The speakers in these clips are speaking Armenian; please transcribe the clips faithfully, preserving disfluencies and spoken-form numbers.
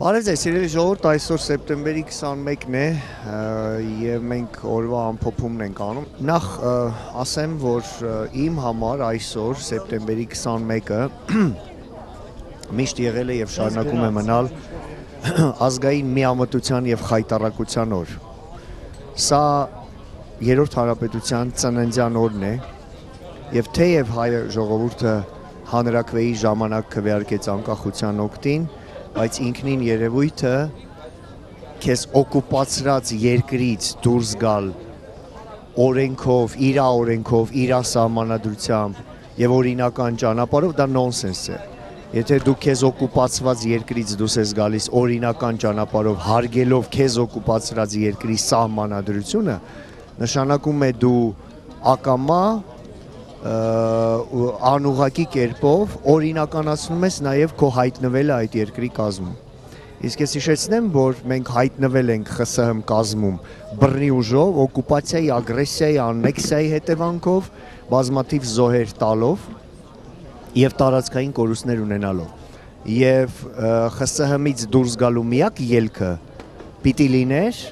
Բարև ձեզ, սիրելի ժողովուրդ, այսօր սեպտեմբերի քսանմեկն է եւ մենք օրվա ամփոփումն ենք անում։ Նախ ասեմ, որ իմ համար այսօր սեպտեմբերի քսանմեկը միշտ եղել է եւ շարունակում է մնալ ազգային միամտության եւ խայտառակության օր։ Սա երրորդ հանրապետության ծննդյան օրն է եւ թեև հայ ժողովուրդը հանրաքվեի ժամանակ քվեարկեց անկախության օգտին, բայց ինքնին երևույթը քեզ օկուպացրած երկրից դուրս գալ օրենքով, իրա օրենքով, իրա սահմանադրությամբ եւ օրինական ճանապարհով դա նոնսենս է։ Եթե դու քեզ օկուպացված երկրից դուրս ես գալիս օրինական ճանապարհով, հարգելով քեզ օկուպացրած երկրի սահմանադրությունը, նշանակում է դու ակամա անուղղակի կերպով օրինականացնում ես նաև քո հայտնվելը այդ երկրի կազմում։ Իսկ ես հիշեցնեմ, որ մենք հայտնվել ենք ԽՍՀՄ կազմում բռնի ուժով, օկուպացիայի, ագրեսիայի, աննեքսիայի հետևանքով, բազմաթիվ զոհեր տալով եւ տարածքային կորուստներ ունենալով։ Եվ ԽՍՀՄ-ից դուրս գալու միակ ելքը պիտի լիներ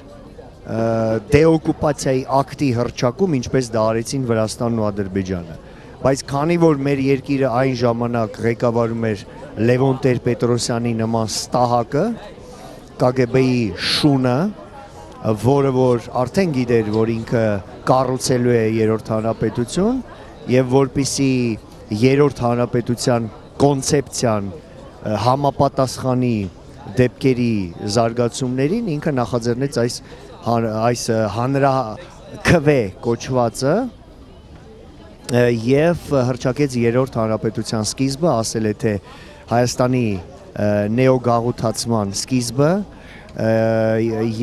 դեօկուպացիայի ակտի հռչակում, ինչպես դա արեցին Վրաստանն ու Ադրբեջանը։ Բայց քանի որ մեր երկիրը այն ժամանակ ղեկավարում էր Լևոն Տեր-Պետրոսյանի նման ստահակը, ԿԳԲ-ի շունը, որը որ արդեն գիտեր, որ ինքը կառուցելու է երրորդ հանրապետություն, եւ որպիսի երրորդ հանրապետության կոնցեպցիան համապատասխանի դեպքերի զարգացումներին, ինքը նախաձեռնեց այս այս հանրաքվե կոչվածը եւ հռչակեց երրորդ հանրապետության սկիզբը, ասել է թե Հայաստանի նեոգաղութացման սկիզբը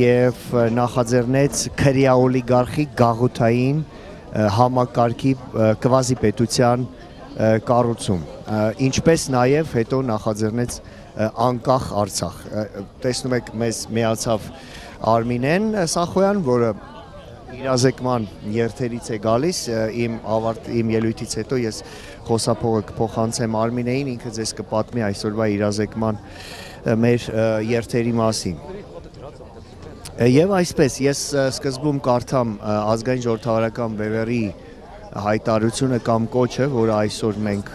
եւ նախաձեռնեց քրեա օլիգարխի գաղութային համակարգի կվազի պետության կառուցում, ինչպես նաեւ հետո նախաձեռնեց անկախ Արցախ։ Տեսնում եք, մեզ միացավ Արմինեն Սախոյան, որը իրազեկման երթերից է գալիս, իմ ավարտ իմ ելույթից հետո ես խոսափողը կփոխանցեմ Արմինեին, ինքը ձեզ կպատմի այսօրվա իրազեկման մեր երթերի մասին։ Եվ այսպես, ես սկզբում կարդամ ազգային ժողովրդավարական բևեռի հայտարարությունը կամ կոչը, որը այսօր մենք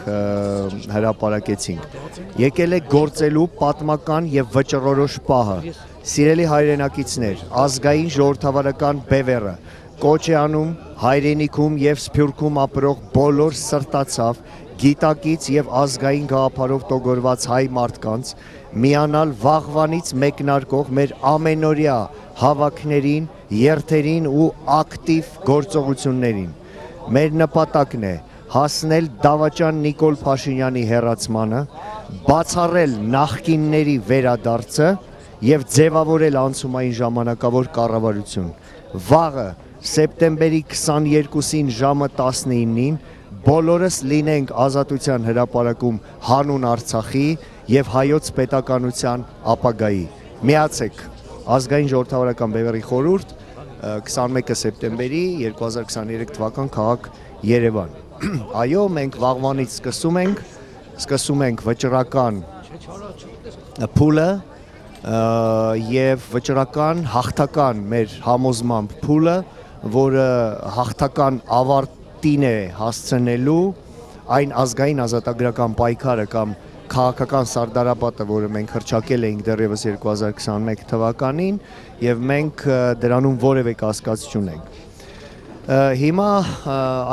հրապարակեցինք։ Եկել է գործելու պատմական եւ վճռորոշ պահը։ Սիրելի հայրենակիցներ, ազգային ժողովրդավարական բևեռը կոչ է անում հայրենիքում եւ Սփյուռքում ապրող բոլոր սրտացավ, գիտակից եւ ազգային գաղափարով տոգորված հայ մարդկանց միանալ վաղվանից մեկնարկող մեր ամենօրյա հավաքներին, երթերին ու ակտիվ գործողություններին։ Մեր նպատակն է հասնել դավաճան Նիկոլ Փաշինյանի հեռացմանը, բացառել նախկինների վերադարձը եւ ձևավորել անցումային ժամանակավոր կառավարություն։ Վաղը սեպտեմբերի քսաներկուսին ժամը տասնինին բոլորս լինենք Ազատության հրապարակում հանուն Արցախի եւ հայոց պետականության ապագայի։ Միացեք ազգային ժողովրդավարական բևեռի խորհուրդ քսանմեկը սեպտեմբերի երկու հազար քսաներեք թվական քաղաք Երևան։ Այո, մենք վաղվանից սկսում ենք, սկսում ենք վճռական փուլը եւ վճռական հաղթական մեր համոզմամբ փուլը, որը հաղթական ավարտին է հասցնելու այն ազգային ազատագրական պայքարը կամ քաղաքական սարդարապատը, որը մենք հռչակել էինք դեռևս երկու հազար քսանմեկ թվականին եւ մենք դրանում որևէ կասկած չունենք։ Հիմա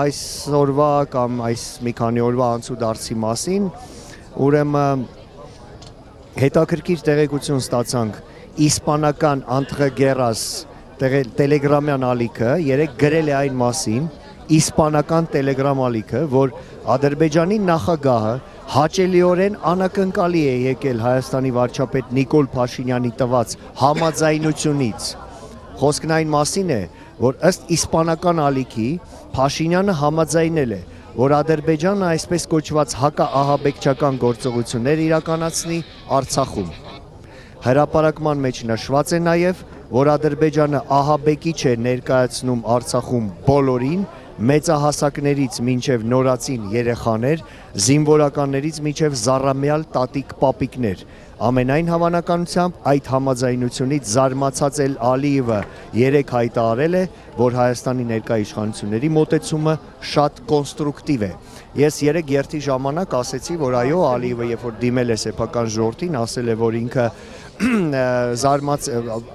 այս օրվա կամ այս մի քանի օրվա անցուդարձի մասին ուրեմն հետաքրքիր տեղեկություն ստացանք իսպանական Անտրե Գերաս տելեգրամյան ալիքը երեք գրել է այն մասին, իսպանական տելեգրամ ալիքը, որ Ադրբեջանի նախագահը հաճելիորեն անակնկալի է եկել Հայաստանի վարչապետ Նիկոլ Փաշինյանի տված համաձայնությունից։ Խոսքն այն մասին է, որ ըստ իսպանական ալիքի Փաշինյանը համաձայնել է, որ Ադրբեջանը այսպես կոչված հակաահաբեկչական գործողություններ իրականացնի Արցախում։ Հրապարակման մեջ նշված է նաև, որ Ադրբեջանը ահաբեկիչ է ներկայացնում Արցախում բոլորին, մեծահասակներից մինչև նորածին երեխաներ, զինվորականներից մինչև զառամյալ տատիկ պապիկներ։ Ամենայն հավանականությամբ այդ համաձայնությունից զարմացած էլ Ալիևը երեք հայտարարել է, որ Հայաստանի ներկա իշխանությունների մոտեցումը շատ կոնստրուկտիվ է։ Ես երեք երթի ժամանակ ասեցի, որ այո, Ալիևը երբ որ դիմել է սեփական ժողովրդին, ասել է, որ ինքը զարմաց,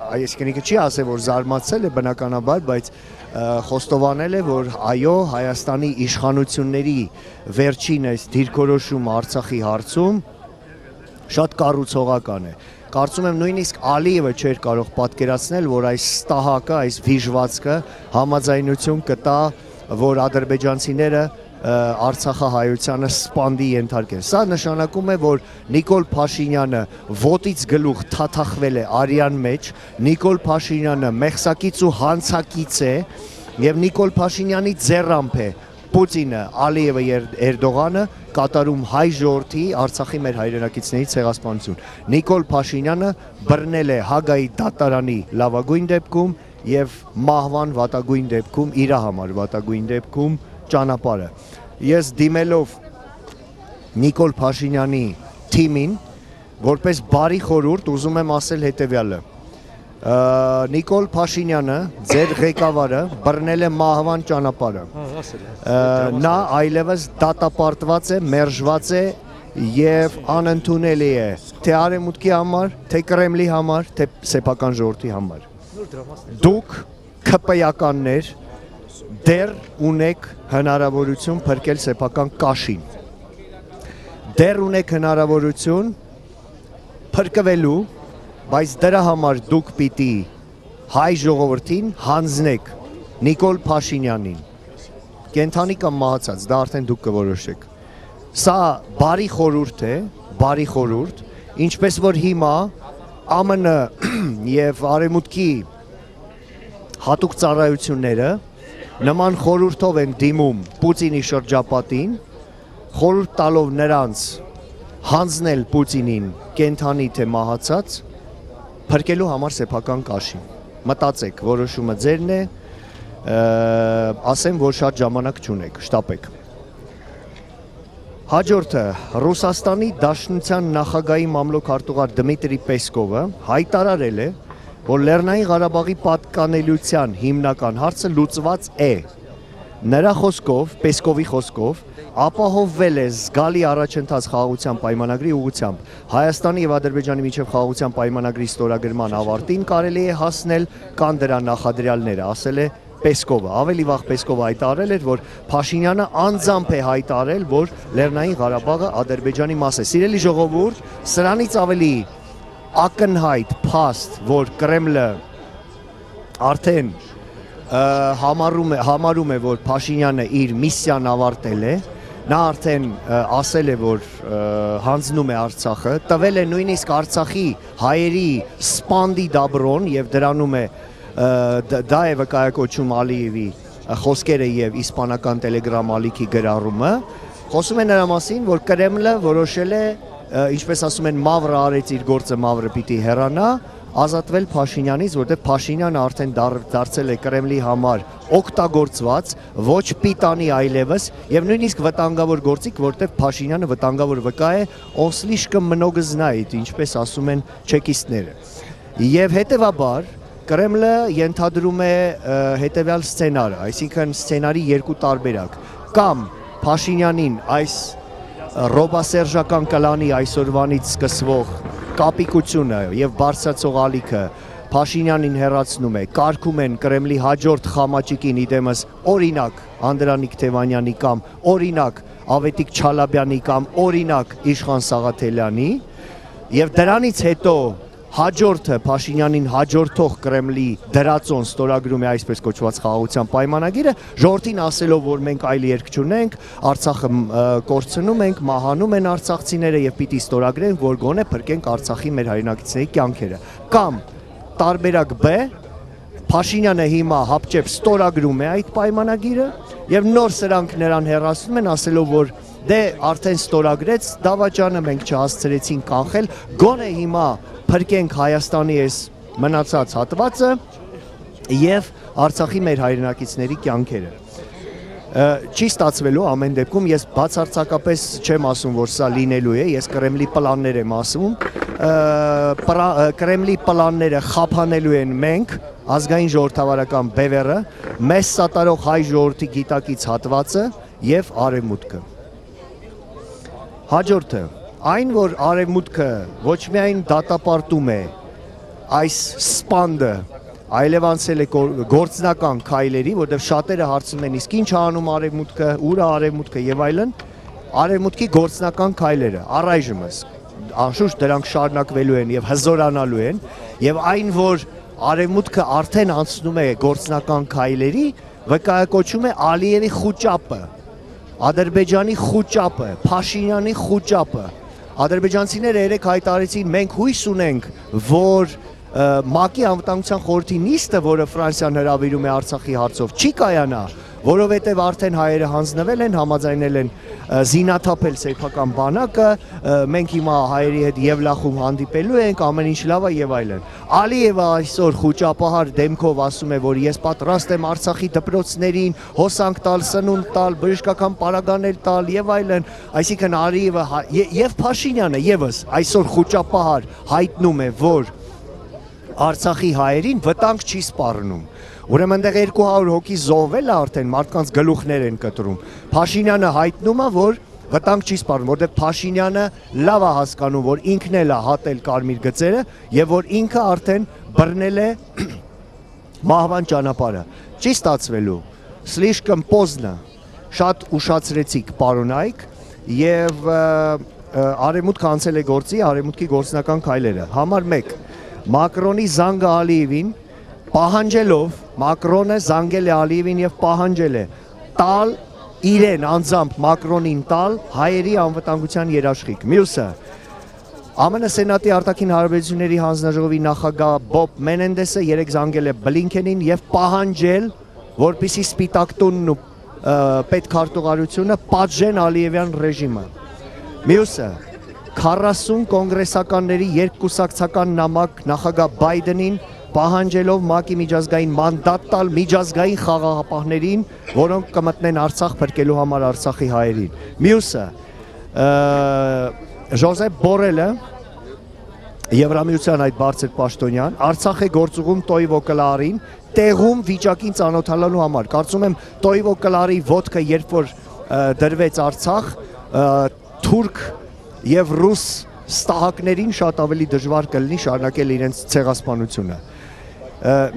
այսինքն ինքը չի ասել, որ զարմացել է բնականաբար, բայց խոստովանել է, որ այո, Հայաստանի իշխանությունների վերջին այս դիրքորոշումը Արցախի հարցում շատ կառուցողական է։ Կարծում եմ նույնիսկ Ալիևը չէր կարող պատկերացնել, որ այս ստահակը, այս վիժվածքը համաձայնություն կտա, որ ադրբեջանցիները Արցախահայությանը սպանդի ենթարկեն։ Սա նշանակում է, որ Նիկոլ Փաշինյանը ոտից գլուխ թաթախվել է արյան մեջ, Նիկոլ Փաշինյանը մեղսակից ու հանցակից է, եւ Նիկոլ Փաշինյանի ձեռամբ է Պուտինը, Ալիևը եւ Էրդողանը կատարում հայ ժողովրդի Արցախի մեր հայրենակիցների ցեղասպանություն։ Նիկոլ Փաշինյանը բռնել է Հագայի դատարանի լավագույն դեպքում եւ մահվան վատագույն դեպքում, իր համար վատագույն դեպքում ճանապարհը։ Ես դիմելով Նիկոլ Փաշինյանի թիմին, որպես բարի խորհուրդ ուզում եմ ասել հետեւյալը. Նիկոլ Փաշինյանը, ձեր ղեկավարը, բռնել է մահվան ճանապարհը։ Նա այլևս դատապարտված է, մերժված է եւ անընդունելի է թե Արևմուտքի համար, թե Կրեմլի համար, թե սեփական ժողովրդի համար։ Դուք ՔՊ-ականներ դեռ ունեք հնարավորություն փրկել սեփական կաշին։ Դեռ ունեք հնարավորություն փրկվելու, բայց դրա համար դուք պիտի հայ ժողովրդին հանձնեք Նիկոլ Փաշինյանին։ Կենթանի կամ մահացած, դա արդեն դուք կորոշեք։ Սա բարի խորհուրդ է, բարի խորհուրդ, ինչպես որ հիմա ԱՄՆ եւ Արևմուտքի հատուկ ծառայությունները նման խորհուրդով են դիմում Պուտինի շրջապատին, խորհուրդ տալով նրանց հանձնել Պուտինին կենթանի թե մահացած, փրկելու համար սեփական կաշին։ Մտածեք, որոշումը ձերն է, ասեմ, որ շատ ժամանակ չունեք, շտապեք։ Հաջորդը Ռուսաստանի Դաշնության նախագահի մամլոք-արտուղար Դմիտրի Պեսկովը հայտարարել է, որ Լեռնային Ղարաբաղի պատկանելիության հիմնական հարցը լուծված է։ Նրա խոսքով, Պեսկովի խոսքով, ապահովվել է զգալի առաջընթաց խաղաղության պայմանագրի ուղղությամբ։ Հայաստանի եւ Ադրբեջանի միջև խաղաղության պայմանագրի ստորագրման ավարտին կարելի է հասնել, կան դրա նախադրյալները, ասել է Պեսկովը։ Ավելի վաղ Պեսկովը հայտարարել էր, որ Փաշինյանը անձամբ է հայտարարել, որ Լեռնային Ղարաբաղը Ադրբեջանի մաս է։ Սիրելի ժողովուրդ, սրանից ավելի ակնհայտ փաստ, որ Կրեմլը արդեն համարում է, համարում է, որ Փաշինյանը իր միսիան ավարտել է, նա արդեն ասել է, որ հանձնում է Արցախը, տվել է նույնիսկ Արցախի հայերի սպանդի դաբրոն եւ դրանում է դա է վկայակոչում Ալիևի խոսքերը եւ իսպանական տելեգրամ ալիքի գրառումը, խոսում է նրա մասին, որ Կրեմլը որոշել է, ինչպես ասում են, մավրը արեց իր գործը, մավրը պիտի հեռանա, ազատվել Փաշինյանից, որտեղ Փաշինյանը արդեն դարձել է Կրեմլի համար օգտագործված, ոչ պիտանի այլևս եւ նույնիսկ վտանգավոր գործիք, որտեղ Փաշինյանը վտանգավոր վկա է, он слишком много знает, ինչպես ասում են չեկիստները։ Եվ հետեւաբար Կրեմլը ենթադրում է հետեւյալ սցենարը, այսինքն սցենարի երկու տարբերակ, կամ Փաշինյանին այս ռոբասերժական կլանի այսօրվանից սկսվող կապիկությունը եւ բարձրացող ալիքը Փաշինյանին հեռացնում է, կարգում են Կրեմլի հաջորդ խամաճիկին իդեմս օրինակ Անդրանիկ Թևանյանի կամ օրինակ Ավետիք Չալաբյանի կամ օրինակ Իշխան Սաղաթելյանի եւ դրանից հետո հաջորդը Փաշինյանին հաջորդող Կրեմլի դրածոն ստորագրում է այսպես կոչված խաղաղության պայմանագիրը, ժողովրդին ասելով, որ մենք այլ երկ չունենք, Արցախը կորցնում ենք, մահանում են արցախցիները եւ պիտի ստորագրենք, որ գոնե փրկենք Արցախի մեր հայրենակիցների կյանքերը։ Կամ տարբերակ B, Փաշինյանը հիմա հապճեպ ստորագրում է այդ պայմանագիրը եւ նոր սրանք նրան հեռացնում են, ասելով, որ դե արդեն ստորագրեց, դավաճանը մենք չհասցրեցին կանխել, գոնե հիմա փրկենք Հայաստանի այս մնացած հատվածը եւ Արցախի մեր հայրենակիցների կյանքերը։ Չի ստացվելու ամեն դեպքում, ես բացարձակապես չեմ ասում, որ սա լինելու է, ես Կրեմլի պլաններ եմ ասում, Կրեմլի պլանները խափանելու են մենք, ազգային ժողովրդավարական բևեռը, մեզ սատարող հայ ժողովրդի գիտակից հատվածը և արևմուտքը։ Հաջորդը, այն որ արևմուտքը ոչ միայն դատապարտում է այս սպանդը, այլև անցել է գործնական քայլերի, որտեղ շատերը հարցնում են իսկ ինչ անում արևմուտքը, ուր է արևմուտքը եւ այլն, արևմուտքի գործնական քայլերը առայժմս անշուշտ դրանք շարունակվելու են եւ հզորանալու են եւ այն որ արևմուտքը արդեն անցնում է գործնական քայլերի, վկայակոչում է Ալիևի խուճապը, Ադրբեջանի խուճապը, Փաշինյանի խուճապը։ Ադրբեջանցիները երեք հայտարարեցին մենք հույս ունենք, որ ՄԱԿ-ի անվտանգության խորհրդի նիստը, որը Ֆրանսիան հրավիրում է Արցախի հարցով, չի կայանա, որովհետև արդեն հայերը հանձնվել են, համաձայնել են զինաթափել սեփական բանակը, մենք հիմա հայերի հետ Եվլախում հանդիպելու ենք, ամեն ինչ լավ է եւ այլն։ Ալիևը այսօր խուճապահար դեմքով ասում է, որ ես պատրաստ եմ Արցախի դպրոցներին հոսանք տալ, սնունդ տալ, բժշկական պարագաներ տալ եւ այլն, այսինքն Ալիևը եւ Փաշինյանը եւս այսօր խուճապահար հայտնում է, որ Արցախի հայերին վտանգ չի սպառնում։ Ուրեմն այնտեղ երկու հարյուր հոգի զոհվել է արդեն, մարդկանց գլուխներ են կտրում։ Փաշինյանը հայտնում է, որ վտանգ չի սպառնում, որտեղ Փաշինյանը լավ է հասկանում, որ ինքն էլ է հատել կարմիր գծերը եւ որ ինքը արդեն բռնել է մահվան ճանապարհը։ Չի ստացվելու։ Слишком поздно։ Շատ ուշացրեցիք, պարոն Այք, եւ արևմուտքը անցել է գործի, արևմուտքի գործնական քայլերը։ Համար մեկ Մակրոնի զանգը Ալիևին պահանջելով, Մակրոնը զանգել է Ալիևին եւ պահանջել է տալ իրեն անձամբ Մակրոնին տալ հայերի անվտանգության երաշխիք։ Մյուսը ԱՄՆ Սենատի արտաքին հարաբերությունների հանձնաժողովի նախագահ Բոբ Մենենդեսը երեք զանգել է Բլինքենին եւ պահանջել, որպեսզի Սպիտակ տունն ու պետքարտուղարությունը պատժեն Ալիևյան ռեժիմը։ Մյուսը քառասուն կոնգրեսականների երկկուսակցական նամակ նախագահ Բայդենին պահանջելով ՄԱԿ-ի միջազգային մանդատ տալ միջազգային խաղաղապահներին, որոնք կմտնեն Արցախ փրկելու համար Արցախի հայերին։ Մյուսը Ժոզեփ Բորելը, Եվրամիության այդ բարձր պաշտոնյան, Արցախ է գործուղում Տոյվո Կլարին տեղում վիճակին ծանոթանալու համար։ Կարծում եմ Տոյվո Կլարի ոտքը երբ որ դրվեց Արցախ, թուրք եւ ռուս ստահակներին շատ ավելի դժվար կլինի շարունակել իրենց ցեղասպանությունը։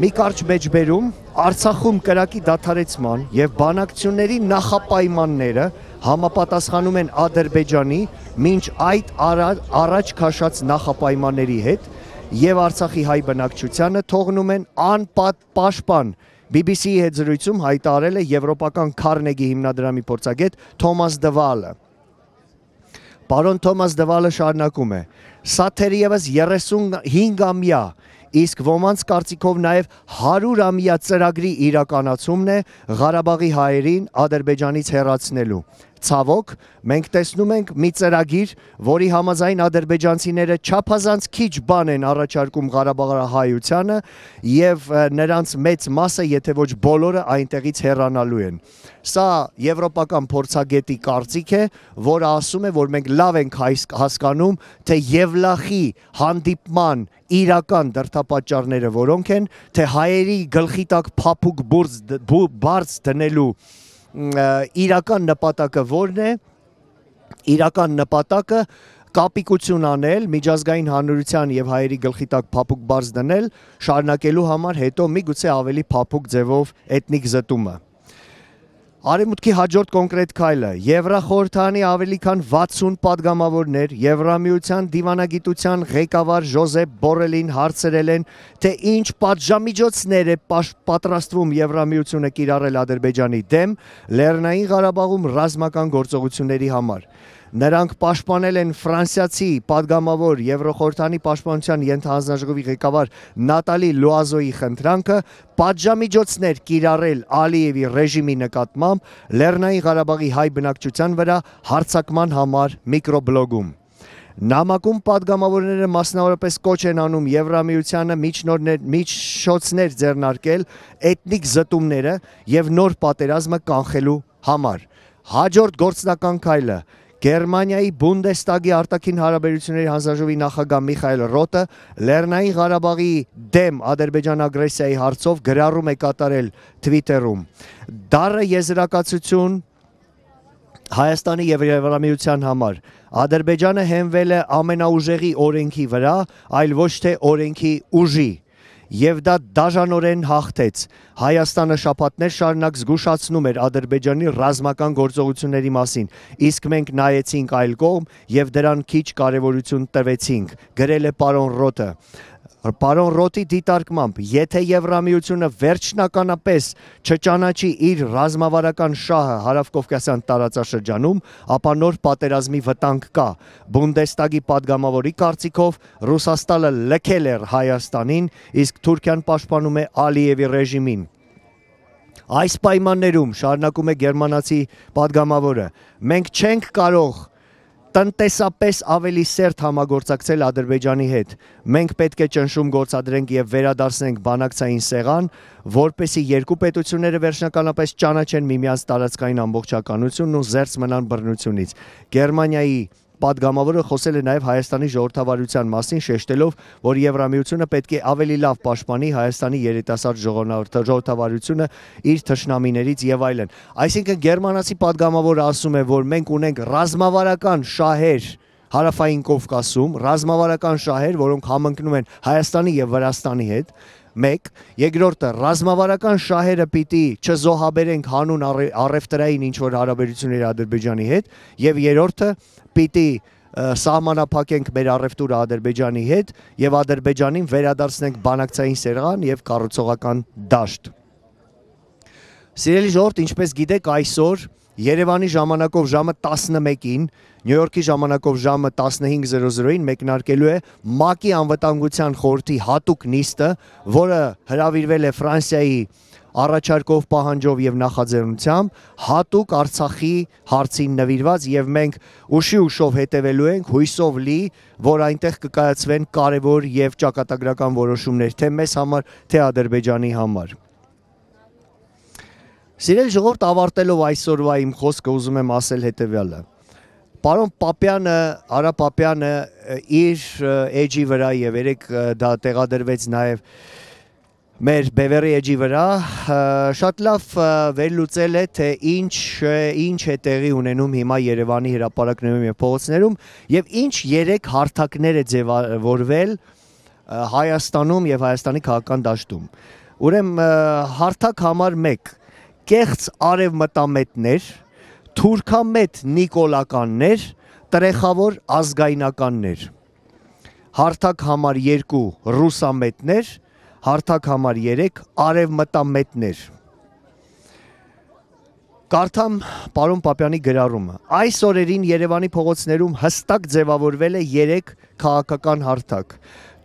Մի կարճ մեջբերում Արցախում կրակի դադարեցման եւ բանակցությունների նախապայմանները համապատասխանում են Ադրբեջանի մինչ այդ առաջ քաշած նախապայմանների հետ եւ Արցախի հայ բնակչությանը թողնում են անպաշտպան։ բի բի սի-ի հետ զրույցում հայտարարել է եվրոպական Քարնեգի հիմնադրամի փորձագետ Թոմաս Դվալը։ Պարոն Թոմաս Դվալը շարունակում է. Սա թերևս երեսունհինգամյա, իսկ ոմանց կարծիքով նաև հարյուրամյա ծրագրի իրականացումն է Ղարաբաղի հայերին Ադրբեջանից հեռացնելու։ Ցավոք, մենք տեսնում ենք մի ծրագիր, որի համաձայն ադրբեջանցիները չափազանց քիչ բան են առաջարկում Ղարաբաղահայությանը եւ նրանց մեծ մասը, եթե ոչ բոլորը, այնտեղից հեռանալու են։ Սա եվրոպական փորձագետի կարծիք է, որը ասում է, որ մենք լավ ենք հասկանում, թե Եվլախի հանդիպման իրական դրդապատճառները որոնք են, թե հայերի գլխի տակ փափուկ բարձ դնելու իրական նպատակը որն է, իրական նպատակը կապիկություն անել, միջազգային հանրության եւ հայերի գլխի տակ փափուկ բարձ դնել, շարունակելու համար հետո միգուցե ավելի փափուկ ձևով էթնիկ զտումը։ Արևմուտքի հաջորդ կոնկրետ քայլը Եվրախորհրդանի ավելի քան վաթսուն падգամավորներ Եվրամիության դիվանագիտության ղեկավար Ժոզեփ Բորելին հարցրել են, թե ինչ պատժամիջոցներ է պատրաստվում Եվրամիությունը կիրառել Ադրբեջանի դեմ Լեռնային Ղարաբաղում ռազմական գործողությունների համար։ Նրանք պաշտպանել են ֆրանսիացի падգամավոր Եվրոխորհրդանի պաշտպանության ենթահանձնաժողովի ղեկավար Նատալի Լուազոյի խնդրանքը պատժամիջոցներ կիրառել Ալիևի ռեժիմի նկատմամբ Լեռնային Ղարաբաղի հայ բնակչության վրա հարձակման համար միկրոբլոգում։ Նամակում падգամավորները մասնավորապես կոչ են անում Եվրամիությանը միջոցներ ձեռնարկել էթնիկ զտումները եւ նոր պատերազմը կանխելու համար։ Հաջորդ գործնական քայլը Գերմանիայի Բունդեստագի արտաքին հարաբերությունների հանձնաժողովի նախագահ Միխայել Ռոթը Լեռնային Ղարաբաղի դեմ Ադրբեջան ագրեսիայի հարցով գրառում է կատարել Twitter-ում։ Դառը եզրակացություն Հայաստանի եւ Եվրամիության համար Ադրբեջանը հենվել է ամենաուժեղի օրենքի վրա, այլ ոչ թե օրենքի ուժի, եւ դա դաժանորեն հաղթեց։ Հայաստանը շաբաթներ շարունակ զգուշացնում էր Ադրբեջանի ռազմական գործողությունների մասին, իսկ մենք նայեցինք այլ կողմ եւ դրան քիչ կարեւորություն տվեցինք, գրել է պարոն Ռոթը։ Պարոն Ռոթի դիտարկմամբ, եթե Եվրամիությունը վերջնականապես չճանաչի իր ռազմավարական շահը հարավկովկասյան տարածաշրջանում, ապա նոր պատերազմի վտանգ կա։ Բունդեստագի падգամավորի կարծիքով Ռուսաստանը լքել էր Հայաստանին, իսկ Թուրքիան պաշտպանում է Ալիևի ռեժիմին։ Այս պայմաններում, շարունակում է գերմանացի падգամավորը, մենք չենք կարող տնտեսապես ավելի սերտ համագործակցել Ադրբեջանի հետ։ Մենք պետք է ճնշում գործադրենք եւ վերադարձնենք բանակցային սեղան, որպեսզի երկու պետությունները վերջնականապես ճանաչեն միմյանց տարածքային ամբողջականությունն ու զերծ մնան բռնությունից։ Գերմանիայի падգամավորը խոսել է նաև Հայաստանի ժողովրդավարության մասին, շեշտելով, որ Եվրամիությունը պետք է ավելի լավ պաշտպանի Հայաստանի երիտասարդ ժողովրդավարությունը իր թշնամիներից եւ այլն։ Այսինքն գերմանացի падգամավորը ասում է, որ մենք ունենք ռազմավարական շահեր Հարավային Կովկասում, ռազմավարական շահեր, որոնք համընկնում են Հայաստանի եւ Վրաստանի հետ, մեկ, երկրորդը ռազմավարական շահերը պիտի չզոհաբերենք հանուն առևտրային ինչ-որ հարաբերությունների Ադրբեջանի հետ, եւ երրորդը պիտի սահմանափակենք մեր առևտուրը Ադրբեջանի հետ եւ Ադրբեջանին վերադարձնենք բանակցային սեղան եւ կառուցողական դաշտ։ Սիրելի ժողովուրդ, ինչպես գիտեք, այսօր Երևանի ժամանակով ժամը տասնմեկին, Նյու Յորքի ժամանակով ժամը տասնհինգ զրո զրոին մեկնարկելու է ՄԱԿ-ի անվտանգության խորհրդի հատուկ նիստը, որը հրավիրվել է Ֆրանսիայի առաջարկով, պահանջով եւ նախաձեռնությամբ, հատուկ Արցախի հարցին նվիրված, եւ մենք ուշի ուշով հետևելու ենք, հույսով լի, որ այնտեղ կկայացվեն կարևոր եւ ճակատագրական որոշումներ, թե մեզ համար, թե Ադրբեջանի համար։ Սիրելի ժողովուրդ, ավարտելով այսօրվա իմ խոսքը ուզում եմ ասել հետևյալը։ Պարոն Պապյանը, Արա Պապյանը իր էջի վրա եւ երեք դա տեղադրվեց նաեւ մեր Բևերի էջի վրա, շատ լավ վերլուծել է, թե ինչ ինչ է տեղի ունենում հիմա Երևանի հրապարակներում եւ փողոցներում եւ ինչ երեք հարթակներ է ձևավորվել Հայաստանում եւ Հայաստանի քաղաքական դաշտում։ Ուրեմն հարթակ համար մեկ կեղծ արևմտամետներ, թուրքամետ նիկոլականներ, տրեխավոր ազգայնականներ։ Հարթակ համար երկու ռուսամետներ, հարթակ համար երեք արևմտամետներ։ Կարդամ պարոն Պապյանի գրառումը։ Այս օրերին Երևանի փողոցներում հստակ ձևավորվել է երեք քաղաքական հարթակ։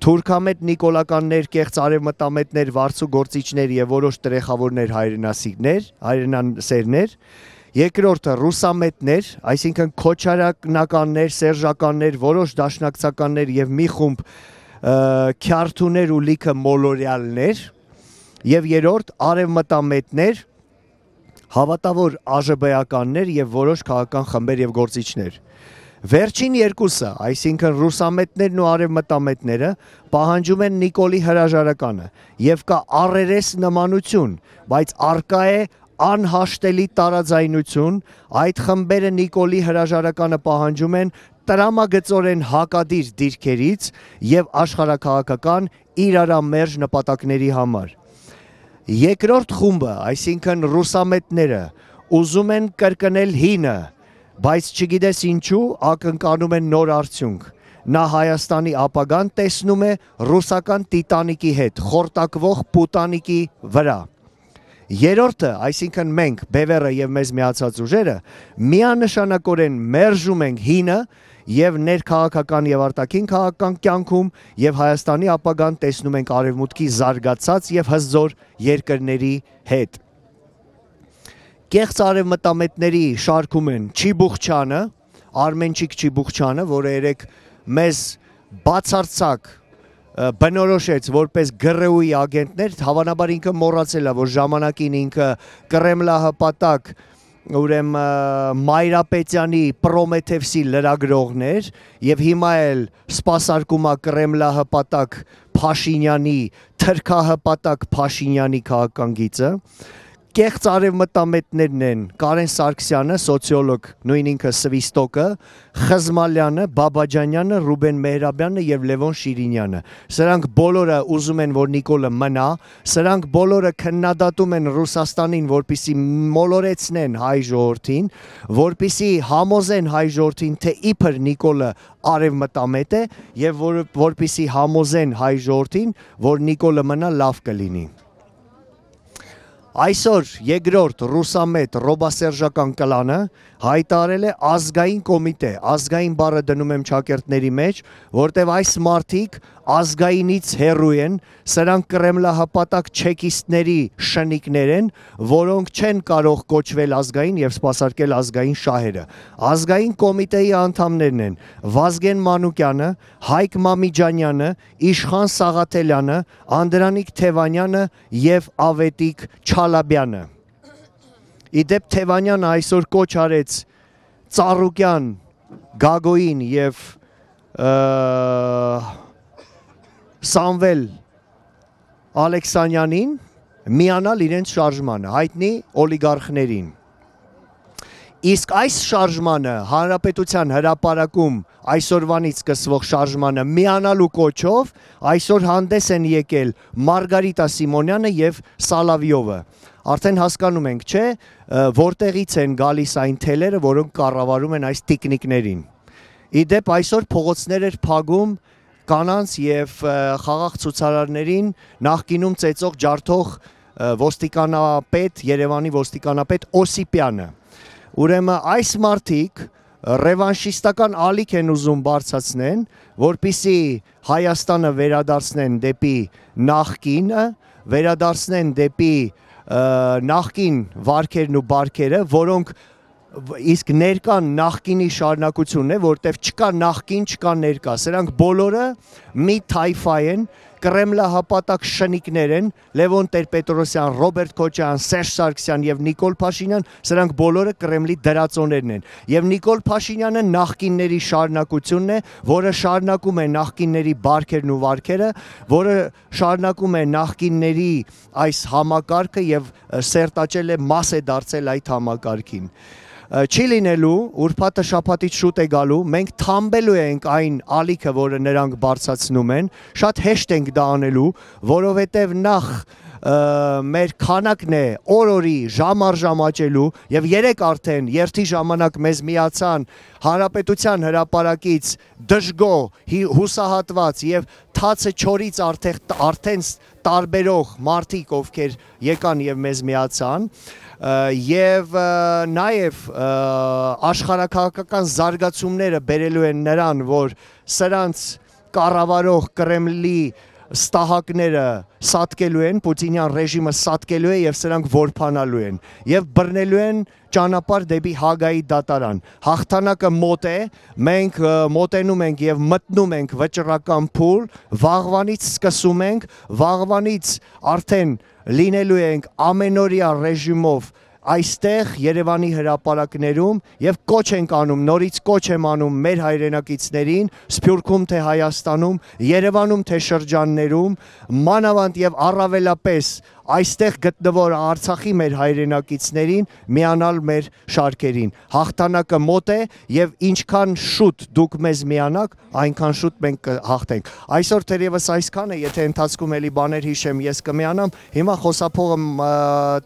Թուրքամետ նիկոլականներ, կեղծ արևմտամետներ, վարձու գործիչներ եւ որոշ տրեխավորներ հայրենասիրներ, հայրենասերներ, երկրորդը ռուսամետներ, այսինքն քոչարյանականներ, սերժականներ, որոշ դաշնակցականներ եւ մի խումբ քյարթուներ ու լիքը մոլորյալներ, եւ երրորդ արևմտամետներ, հավատավոր ԱԺԲ-ականներ եւ որոշ քաղաքական խմբեր եւ գործիչներ։ Վերջին երկուսը, այսինքն ռուսամետներն ու արևմտամետները, պահանջում են Նիկոլի հրաժարականը եւ կա առերես նմանություն, բայց արկա է անհաշտելի տարաձայնություն, այդ խմբերը Նիկոլի հրաժարականը պահանջում են տրամագծորեն հակադիր դիրքերից եւ աշխարհաքաղաքական իրարամերժ նպատակների համար։ Երկրորդ խումբը, այսինքն ռուսամետները, ուզում են կրկնել հինը, բայց չգիտես ինչու ակնկալում են նոր արդյունք։ Նա Հայաստանի ապագան տեսնում է ռուսական Տիտանիկի հետ, խորտակվող Պուտանիկի վրա։ Երրորդը, այսինքն մենք, Բևերը եւ մեզ միացած ուժերը, միանշանակորեն մերժում ենք հինը եւ ներքաղաքական եւ արտաքին քաղաքական կյանքում եւ Հայաստանի ապագան տեսնում ենք արևմուտքի զարգացած եւ հզոր երկրների հետ։ Կեղծ արևմտամետների շարքում են Չիբուխչյանը, Արմենչիկ Չիբուխչյանը, որը երեք մեզ բացարձակ բնորոշեց որպես ԳՌՈ-ի ագենտներ, հավանաբար ինքը մոռացել է, որ ժամանակին ինքը կրեմլահպատակ ուրեմն Մայրապետյանի Պրոմեթևսի լրագրողներ եւ հիմա էլ սպասարկումա Կրեմլահպատակ Փաշինյանի թրքահպատակ Փաշինյանի քաղաքական գիծը կեղծ արևմտամետներն են Կարեն Սարգսյանը, սոցիոլոգ, նույն ինքը Սվիստոկը, Խզմալյանը, Բաբաջանյանը, Ռուբեն Մեհրաբյանը եւ Լևոն Շիրինյանը։ Սրանք բոլորը ուզում են, որ Նիկոլը մնա, սրանք բոլորը քննադատում են Ռուսաստանին, որպիսի մոլորեցնեն հայ ժողովրդին, որպիսի համոզեն հայ ժողովրդին, թե իբր Նիկոլը արևմտամետ է եւ որ, որպիսի համոզեն հայ ժողովրդին, որ Նիկոլը մնա լավ կլինի։ Այսօր երկրորդ ռուսամետ ռոբասերժական կլանը հայտարարել է ազգային կոմիտե, ազգային բառը դնում եմ ճակերտների մեջ, որտեղ այս մարդիկ ազգայինից հեռու են, սրանք կրեմլահպատակ չեկիստների շնիկներ են, որոնք չեն կարող կոչվել ազգային եւ սպասարկել ազգային շահերը։ Ազգային կոմիտեի անդամներն են Վազգեն Մանուկյանը, Հայկ Մամիջանյանը, Իշխան Սաղաթելյանը, Անդրանիկ Թևանյանը եւ Ավետիք Չալաբյանը։ Իդեպ Թևանյանը այսօր կոչ արեց Ծառուկյան, Գագոին եւ Սամվել Ալեքսանյանին միանալ իրենց շարժմանը, հայտնի օլիգարխներին։ Իսկ այս շարժմանը Հանրապետության հրապարակում այսօրվանից սկսվող շարժմանը միանալու կոչով այսօր հանդես են եկել Մարգարիտա Սիմոնյանը եւ Սալավյովը։ Արդեն հասկանում ենք, չէ, որտեղից են գալիս այն թելերը, որոնք կառավարում են այս տիկնիկներին։ Իդեպ այսօր փողոցներ էր փակում կանանց եւ խաղաղ ցուցարարներին նախկինում ծեծող ջարդող ոստիկանապետ, Երևանի ոստիկանապետ Օսիպյանը։ Ուրեմն այս մարդիկ ռևանշիստական ալիք են ուզում բարձրացնեն, որպիսի Հայաստանը վերադարձնեն դեպի նախկինը, վերադարձնեն դեպի նախկին վարքերն ու բարքերը, որոնք իսկ ներկան նախկինի շարունակությունն է, որտեվ չկա նախկին, չկա ներկա, սրանք բոլորը մի թայֆա են, կրեմլահպատակ շնիկներ են, Լևոն Տեր-Պետրոսյան, Ռոբերտ Քոչարյան, Սերժ Սարգսյան եւ Նիկոլ Փաշինյան, սրանք բոլորը Կրեմլի դրածոներն են։ Եվ Նիկոլ Փաշինյանը նախկինների շարունակությունն է, որը շարունակում է նախկինների բարքերն ու վարքերը, որը շարունակում է նախկինների այս համակարգը եւ սերտաճել է, մաս է դարձել այդ համակարգին։ Չի լինելու, ուրբաթը շաբաթից շուտ է գալու, մենք թամբելու ենք այն ալիքը, որը նրանք բարձրացնում են, շատ հեշտ ենք դա անելու, որովհետև նախ մեր քանակն է օր-օրի ժամ առ ժամ աճելու եւ երեք արդեն երթի ժամանակ մեզ միացան Հանրապետության հրապարակից դժգո հուսահատված եւ թացը չորից արդեն տարբերող մարդիկ, ովքեր եկան եւ մեզ միացան եւ նաեւ աշխարհակաղակական զարգացումները բերելու են նրան, որ սրանց կառավարող Կրեմլի ստահակները սատկելու են, Պուտինյան ռեժիմը սատկելու է եւ սրանք որփանալու են եւ բռնելու են ճանապարհ դեպի Հագայի դատարան։ Հաղթանակը մոտ է, մենք մոտենում ենք եւ մտնում ենք վճռական փուլ, վաղվանից սկսում ենք, վաղվանից արդեն լինելու ենք ամենօրյա ռեժիմով այստեղ Երևանի հրապարակներում եւ կոչ ենք անում, նորից կոչ եմ անում մեր հայրենակիցներին, Սփյուռքում թե Հայաստանում, Երևանում թե շրջաններում, մանավանդ եւ առավելապես այստեղ գտնվող Արցախի մեր հայրենակիցներին միանալ մեր շարքերին։ Հաղթանակը մոտ է եւ ինչքան շուտ դուք մեզ միանաք, այնքան շուտ մենք կհաղթենք։ Այսօր թերևս այսքան է, եթե ընթացքում էլի բաներ հիշեմ, ես կմիանամ։ Հիմա խոսափողը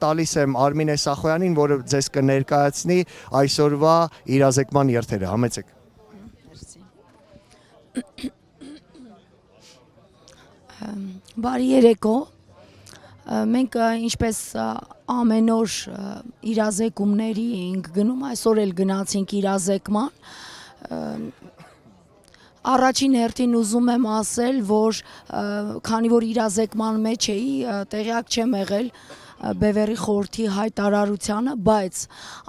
տալիս եմ Արմինե Սախոյանին, որը ձեզ կներկայացնի այսօրվա իրազեկման երթերը։ Համեցեք։ Բարի երեկո։ Մենք ինչպես ամեն օր իրազեկումների ենք գնում, այսօր էլ գնացինք իրազեկման։ Առաջին հերթին ուզում եմ ասել, որ քանի որ իրազեկման մեջ էի, տեղյակ չեմ եղել Բևեռի խորհրդի հայտարարությանը, բայց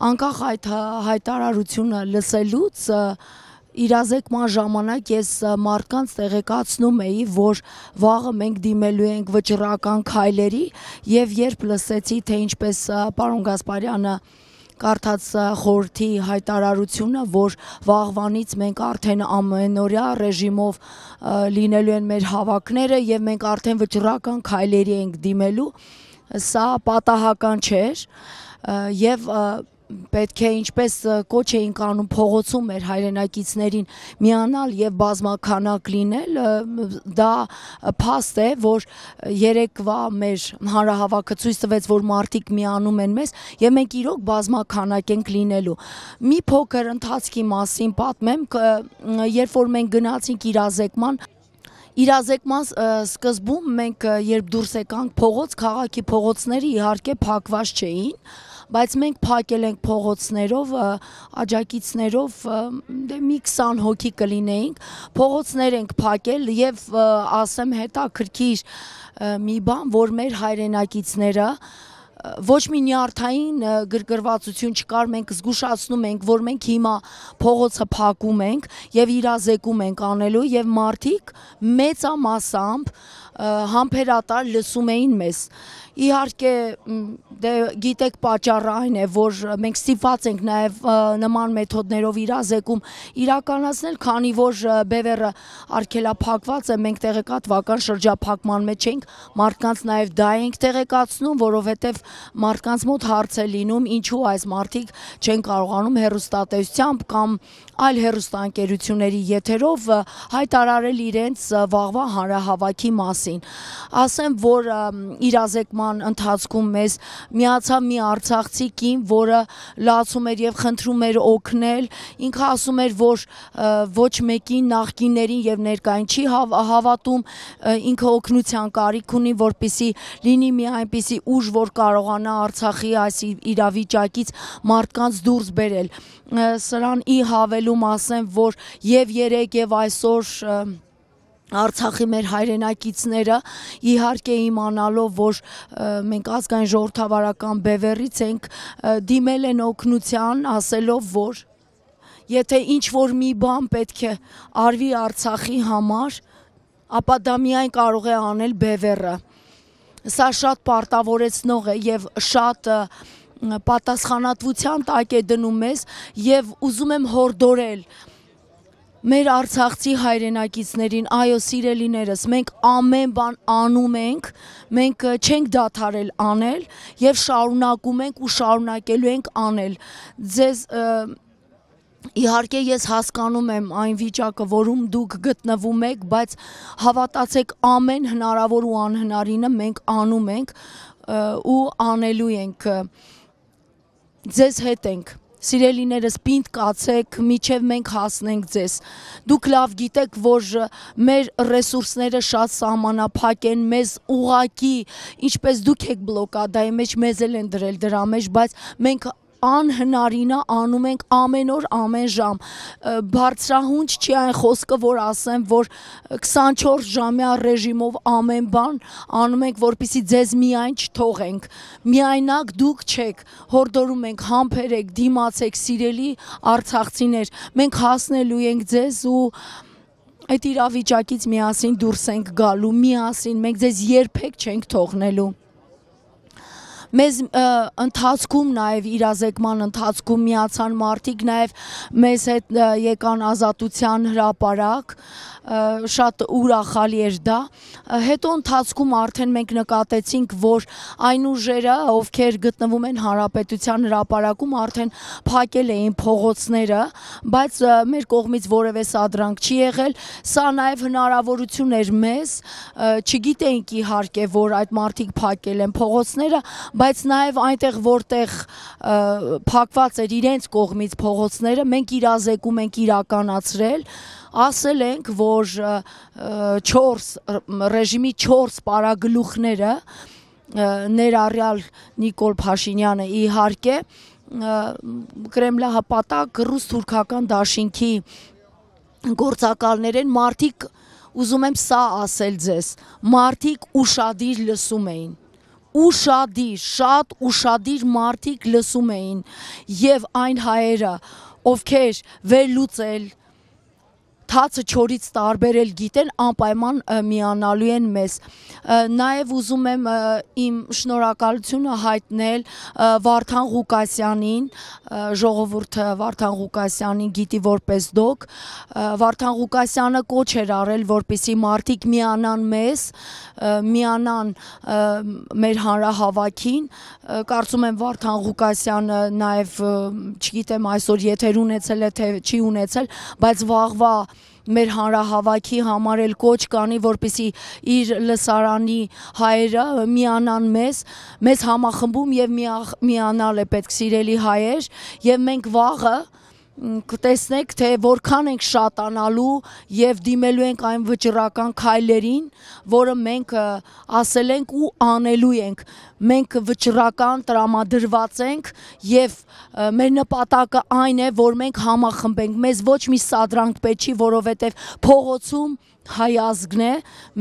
անկախ այդ հայտարարությունը լսելուց իրազեկման ժամանակ ես մարդկանց տեղեկացնում էի, որ վաղը մենք դիմելու ենք վճռական քայլերի եւ երբ լսեցի, թե ինչպես պարոն Գասպարյանը կարդաց խորհրդի հայտարարությունը, որ վաղվանից մենք արդեն ամենօրյա ռեժիմով լինելու են մեր հավաքները եւ մենք արդեն վճռական քայլերի ենք դիմելու, սա պատահական չէր եւ պետք է ինչպես կոչ էինք անում փողոցում մեր հայրենակիցներին միանալ եւ բազմաքանակ լինել, դա փաստ է, որ երեկվա մեր հանրահավաքը ցույց տվեց, որ մարդիկ միանում են մեզ եւ մենք իրոք բազմաքանակ ենք լինելու։ Մի փոքր ընթացքի մասին պատմեմ, երբ որ մենք գնացինք իրազեկման, Իրազեկման սկզբում մենք երբ դուրս եկանք փողոց, քաղաքի փողոցները իհարկե փակված չէին, բայց մենք փակել ենք փողոցներով, աջակիցներով, դե մի քսան հոգի կլինեինք, փողոցներ ենք փակել եւ ասեմ հետաքրքիր մի բան, որ մեր հայրենակիցները ոչ մի նյարդային գրգռվածություն չկար, մենք զգուշացնում ենք, որ մենք հիմա փողոցը փակում ենք եւ իրազեկում ենք անելու եւ մարդիկ մեծամասամբ համբերատար լսում էին մեզ։ Իհարկե դե գիտեք պատճառը այն է, որ մենք ստիպված ենք նաև նման մեթոդներով իրազեկում իրականացնել, քանի որ բևեռը արգելափակված է, մենք տեղեկատվական շրջափակման մեջ ենք, մարդկանց նաև դա ենք տեղեկացնում, որովհետև մարդկանց մոտ հարց է լինում, ինչու այս մարդիկ չեն կարողանում հեռուստատեսությամբ կամ այլ հեռուստաընկերությունների եթերով հայտարարել իրենց վաղվա հանրահավաքի մասին։ Ասեմ, որ իրազեկման ընթացքում մեզ միացավ մի արցախցի կին, որը լացում էր եւ խնդրում էր օգնել, ինքը ասում էր, որ ոչ մեկին նախկիններին եւ ներկային չի հավատում, ինքը օգնության կարիք ունի, որպեսզի լինի մի այնպիսի ուժ, որ կարողանա Արցախի այս իրավիճակից մարդկանց դուրս բերել։ Սրան ի հավելում ասեմ, որ եւ երեք եւ այսօր Արցախի մեր հայրենակիցները իհարկե իմանալով, որ մենք ազգային ժողովրդավարական բևեռից ենք, դիմել են օգնության, ասելով, որ եթե ինչ-որ մի բան պետք է արվի Արցախի համար, ապա դա միայն կարող է անել բևեռը։ Սա շատ պարտավորեցնող է եւ շատ պատասխանատվության տակ է դնում մեզ եւ ուզում եմ հորդորել մեր արցախցի հայրենակիցներին, այո սիրելիներս, մենք ամեն բան անում ենք, մենք չենք դադարել անել եւ շարունակում ենք ու շարունակելու ենք անել։ Ձեզ իհարկե ես հասկանում եմ այն վիճակը, որում դուք գտնվում եք, բայց հավատացեք ամեն հնարավոր ու անհնարինը մենք անում ենք ու անելու ենք։ Ձեզ հետ ենք։ Սիրելիներս, պինդ կացեք, միջև մենք հասնենք ձեզ։ Դուք լավ գիտեք, որ մեր ռեսուրսները շատ սահմանափակ են, մեզ ուղակի, ինչպես դուք եք բլոկադայի մեջ, մեզ էլ են դրել դրա մեջ, բայց մենք անհնարինը անում ենք ամեն օր, ամեն ժամ։ Բարձրահունչ չի այն խոսքը, որ ասեմ, որ քսանչորս ժամյա ռեժիմով ամեն բան անում ենք, որպեսզի ձեզ միայն չթողենք։ Միայնակ դուք չեք, հորդորում ենք, համբերեք, դիմացեք, սիրելի արցախցիներ, մենք հասնելու ենք ձեզ ու այդ իրավիճակից միասին դուրս ենք գալու, միասին, մենք ձեզ երբեք չենք թողնելու։ Մեզ ընթացքում նաև իրազեկման ընթացքում միացան մարդիկ, նաև մեզ հետ եկան Ազատության հրապարակ, շատ ուրախալի էր դա։ Հետո ընթացքում արդեն մենք նկատեցինք, որ այն ուժերը, ովքեր գտնվում են Հանրապետության հրապարակում, արդեն փակել էին փողոցները, բայց մեր կողմից որևէ սադրանք չի եղել։ Սա նաև հնարավորություն էր մեզ, չգիտեինք իհարկե, որ այդ մարդիկ փակել են փողոցները, բայց նաև այնտեղ, որտեղ փակված էր իրենց կողմից փողոցները, մենք իրազեկում ենք իրականացրել, ասել ենք, որ չորս ռեժիմի չորս պարագլուխները, ներառյալ Նիկոլ Փաշինյանը իհարկե, կրեմլահպատակ ռուս-թուրքական դաշինքի գործակալներ են, մարդիկ, ուզում եմ սա ասել ձեզ, մարդիկ ուշադիր լսում էին, ուշադիր, շատ ուշադիր մարդիկ լսում էին եւ այն հայերը, ովքեր վերլուծել, թացը չորից տարբերել գիտեն, անպայման միանալու են մեզ։ Նաև ուզում եմ իմ շնորհակալությունը հայտնել Վարդան Ղուկասյանին, ժողովուրդը Վարդան Ղուկասյանին գիտի որպես դոկ։ Վարդան Ղուկասյանը կոչ էր արել, որպեսզի մարդիկ միանան մեզ, միանան մեր հանրահավաքին։ Կարծում եմ Վարդան Ղուկասյանը նաև, չգիտեմ այսօր եթեր ունեցել է, թե չի ունեցել, բայց վաղվա մեր հանրահավաքի համար էլ կոչ կանի, որպեսզի իր լսարանի հայերը միանան մեզ, մեզ համախմբում եւ միանալ է պետք, սիրելի հայեր, եւ մենք վաղը կտեսնեք, թե որքան ենք շատանալու եւ դիմելու ենք այն վճռական քայլերին, որը մենք ասել ենք ու անելու ենք։ Մենք վճռական տրամադրված ենք եւ մեր նպատակը այն է, որ մենք համախմբենք։ Մեզ ոչ մի սադրանք պետք չի, որովհետեւ փողոցում հայ ազգն է,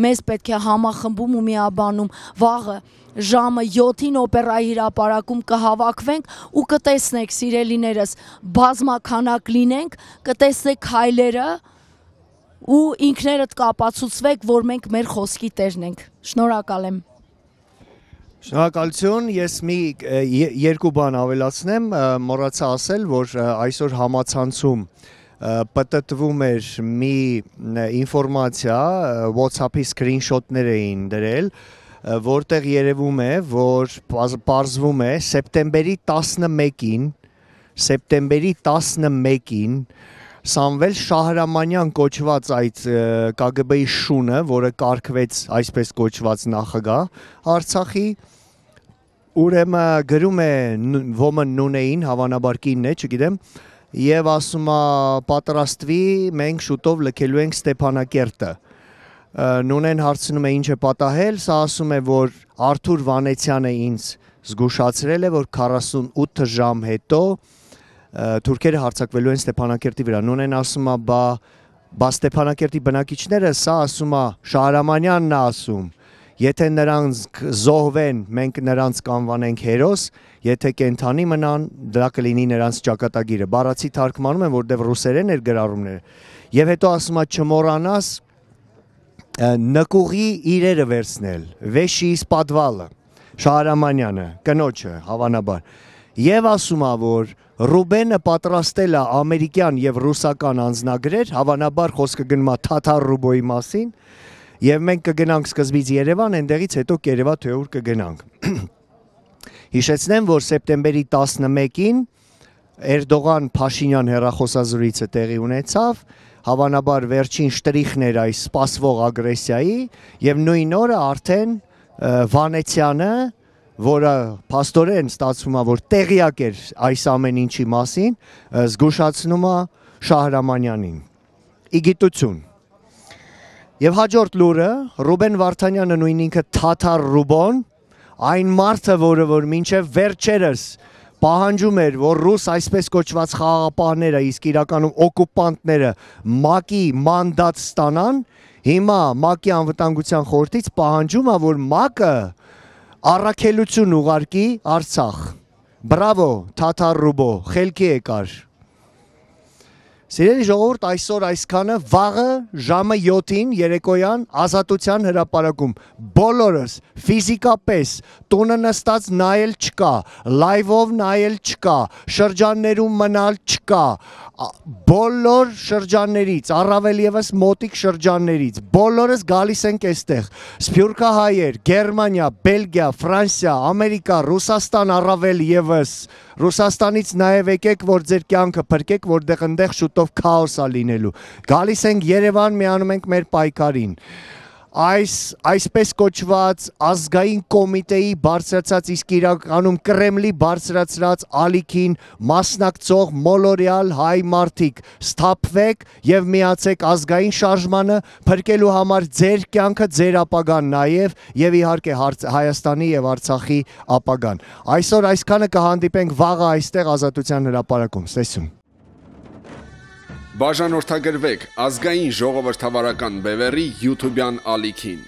մեզ պետք է համախմբում ու միաբանում։ Վաղը ժամը յոթին օպերայի հրապարակում կհավաքվենք ու կտեսնեք, սիրելիներս, բազմաքանակ լինենք, կտեսնեք քայլերը ու ինքներդ կապացուցվեք, որ մենք մեր խոսքի տերն ենք։ Շնորհակալ եմ։ Շնորհակալություն, ես մի երկու բան ավելացնեմ, մոռացա ասել, որ այսօր համացանցում պատտվում էր մի ինֆորմացիա, WhatsApp-ի սկրինշոթներ էին դրել, որտեղ երևում է, որ պարզվում է սեպտեմբերի տասնմեկին, սեպտեմբերի տասնմեկին Սամվել Շահրամանյան կոչված այդ Կ Գ Բ-ի շունը, որը կարգվեց այսպես կոչված նախագահ Արցախի, ուրեմն գրում է ոմն նունեին, հավանաբար կինն է, չգիտեմ, եւ ասում է պատրաստվի, մենք շուտով լքելու ենք Ստեփանակերտը։ Նունեն հարցնում է ինչ է պատահել, սա ասում է, որ Արթուր Վանեցյանը ինձ զգուշացրել է, որ քառասունութ ժամ հետո թուրքերը հարձակվելու են Ստեփանակերտի վրա։ Նունեն ասում է, բա բա Ստեփանակերտի բնակիչները, սա ասում է Շահրամանյանն է ասում, եթե նրանք զոհվեն, մենք նրանց կանվանենք հերոս, եթե կենթանի մնան, դա կլինի նրանց ճակատագիրը։ Բառացի թարգմանում են, որտեղ ռուսերեն էր գրառումները։ Եվ հետո ասում է չմոռանաս նկուղի իրերը վերցնել, վեշի սպադվալը, Շահրամանյանը, կնոջը, հավանաբար։ Եվ ասում է, որ Ռուբենը պատրաստել է ամերիկյան եւ ռուսական անձնագրեր, հավանաբար խոսքը գնում է թաթար ռուբոյի մասին, եւ մենք կգնանք սկզբից Երևան, այնտեղից հետո Կերևա թե ուր կգնանք։ Հիշեցնեմ, որ սեպտեմբերի տասնմեկին Էրդողան Փաշինյան հեռախոսազրույցը տեղի ունեցավ, հավանաբար վերջին շտրիխն էր այս սպասվող ագրեսիայի եւ նույն օրը արդեն Վանեցյանը, որը փաստորեն ստացվում է, որ տեղյակ էր այս ամեն ինչի մասին, զգուշացնում է Շահրամանյանին։ Իգիտություն։ Եվ հաջորդ լուրը Ռուբեն Վարդանյանը նույն ինքը թաթար ռուբոն, այն մարդը, որը որ մինչև վերջերս պահանջում էր, որ ռուս այսպես կոչված խաղաղապահները, իսկ իրականում օկուպանտները ՄԱԿ-ի մանդատ ստանան, հիմա ՄԱԿ-ի անվտանգության խորհրդից պահանջում է, որ ՄԱԿ-ը առաքելություն ուղարկի Արցախ։ Բրավո, թաթար ռուբո, խելքի եկար։ Սիրելի ժողովուրդ, այսօր այսքանը, վաղը ժամը յոթին երեկոյան Ազատության հրապարակում բոլորս ֆիզիկապես տունը նստած նայել չկա, լայվով նայել չկա, շրջաններում մնալ չկա, բոլոր շրջաններից, առավել ևս մոտիկ շրջաններից, բոլորս գալիս ենք այստեղ, սփյուռքահայեր, Գերմանիա, Բելգիա, Ֆրանսիա, Ամերիկա, Ռուսաստան, առավել ևս, Ռուսաստանից նաև եկեք, որ ձեր կյանքը փրկեք, որտեղ այնտեղ շուտով քաոս է լինելու։ Գալիս ենք Երևան, միանում ենք մեր պայքարին։ Այս այսպես կոչված ազգային կոմիտեի բարձրացած, իսկ իրականում Կրեմլի բարձրացրած ալիքին մասնակցող մոլորյալ հայ մարդիկ, սթափվեք եւ միացեք ազգային շարժմանը, փրկելու համար ձեր կյանքը, ձեր ապագան նաեւ եւ իհարկե Հայաստանի եւ Արցախի ապագան։ Այսօր այսքանը, կհանդիպենք վաղը այստեղ Ազատության հրապարակում։ Ստեսում։ Բաժանորդագրվեք ազգային ժողովրդավարական բևեռի յութուբյան ալիքին։